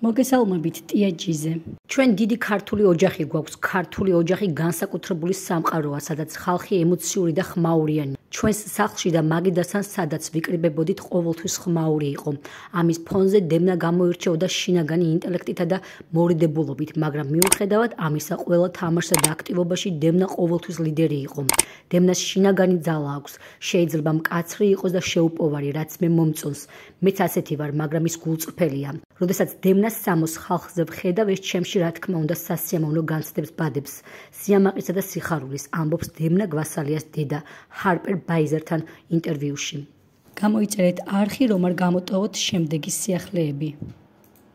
მოგესალმებით ტიაჯიზე. ჩვენ დიდი ქართული ოჯახი გვაქვს. ქართული ოჯახი განსაკუთრებული სამყაროა, სადაც ხალხი ემოციური და ხმაურიანი. ჩვენს სახლში და მაგიდასთან სადაც ვიკრიბებოდით ყოველთვის ხმაური იყო. ამის ფონზე დევნა გამოირჩეოდა შინაგანი ინტელექტითა და მორიდებულობით, მაგრამ მიუხედავად ამისა, ყველა თამაშსა და აქტივობაში დევნა ყოველთვის ლიდერი იყო. დევნას შინაგანი ძალა აქვს. შეიძლება მკაცრი იყოს და შეუპოვარი, რაც მე მომწონს. მეც ასეთი ვარ, მაგრამ ის გულწრფელია. როდესაც დევნას სამოს ხალხზე ვხედავ, ეს ჩემში რა თქმა უნდა სასიამოვნო განცდებს ბადებს. სიამაყისა და სიხარულის ამბობს დევნა გვასალიას დედა ჰარპერ ბაიზერთან ინტერვიუში. გამოიწერეთ არხი, რომ არ გამოტოვოთ შემდეგი სიახლეები.